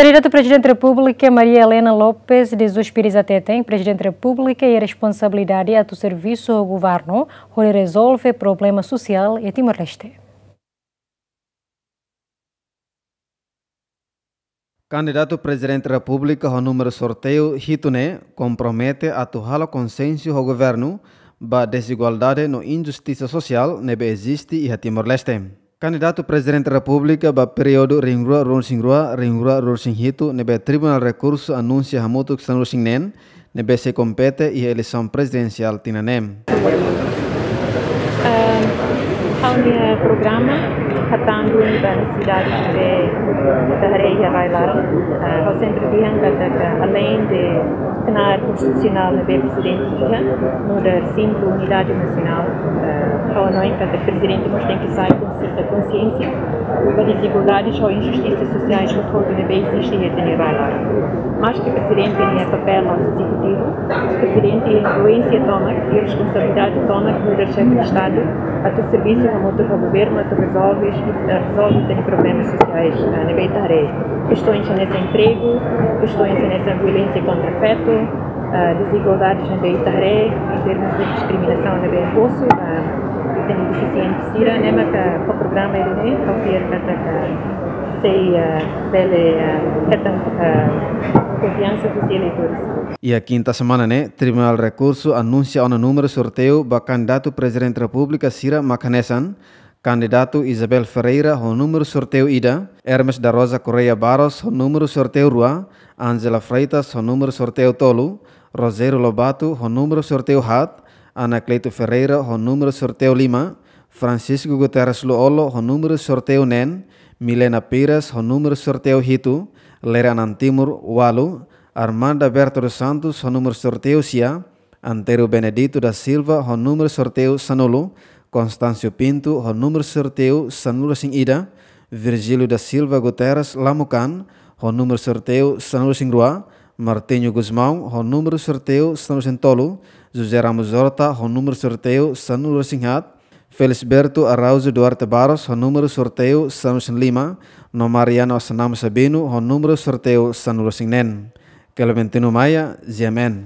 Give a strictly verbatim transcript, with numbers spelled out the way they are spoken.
Kandidatu Prezidente Repúblika Maria Helena Lopes de Jesus Pires hateten, Prezidente Repúblika iha responsabilidade atu servisu ho governu hodi rezolve problema sosiál iha Timor-Leste. Kandidatu Prezidente Repúblika ho númeru sorteiu hitu ne'e kompromete atu halo konsensu ho governu ba dezigualdade no injustisa sosiál ne'ebé eziste iha Timor-Leste. Kandidatu Prezidente Repúblika ba períodu rihun rua ruanulu-resin-rua, rihun rua ruanulu-resin-hitu, ne'ebé Tribunál Rekursu anunsia hamutuk sanulu-resin-neen, ne'ebé sei kompete iha eleisaun prezidensiál tinan ne'e. Ehm, ha'u-nia programa hatán duni ba nesesidade ne'ebé ita haree iha rai laran. Eh, ha'u sempre dehan katak aleinde knaar konstitusionál ne'ebé Prezidente iha, nu'udar símbolu unidade nasionál, eh, ha'u hanoin katak Prezidente mós tenke sai konsi-, konsiénsia ba dezigualdades ho injustisa sosiais hotu-hotu ne'ebé eziste iha ita-nia rai laran. Maske Prezidente nia papél ezekutivu, Prezidente influénsia tomak, iha responsabilidade tomak nu'udar xefe Estadu, atu servisu hamutuk ho governu, atu rezolve, eh, rezolve ita-nia problemas sosiais, eh, ne'ebé ita haree. Kestoens hanesan empregu, kestoens hanesan violénsia kontra fetu, eh, dezigualdades ne'ebé ita haree, em termos de diskriminasaun ne'ebé impostu, eh, ita-nia defisiente sira, ne'e maka ba programa ida-ne'e, ha'u fiar katak sei, eh, bele, eh, hetan, eh, konfiansa husi eleitores. Iha kinta semana ne'e, Tribunál Rekursu anunsia ona númeru sorteiu ba kandidatu Prezidente Repúblika sira mak hanesan, kandidatu Isabel Ferreira ho númeru sorteiu ida, Hermes da Rosa Correia Barros ho númeru sorteiu rua, Angela Freitas ho númeru sorteiu tolu, Rogério Lobato ho númeru sorteiu haat, Anacleto Ferreira ho númeru sorteiu lima, Francisco Guterres Lú-Olo ho númeru sorteiu neen, Milena Pires ho númeru sorteiu hitu, Lere Anan Timur ualu, Armanda Berto dos Santos ho númeru sorteiu sia, Antero Benedito da Silva ho númeru sorteiu sanulu, Constâncio Pinto ho númeru sorteiu sanulu-resin-ida, Virgílio da Silva Guterres Lamukan ho númeru sorteiu sanulu-resin-rua, Martinho Gusmão ho númeru sorteiu sanulu-resin-tolu, José Ramos Horta ho númeru sorteiu sanulu-resin-haat, Felisberto Araújo Duarte Barros ho númeru sorteiu sanulu-resin-lima, no Mariano Assanamo Sabino ho númeru sorteiu sanulu-resin-neen. Clementino Maia, G M N.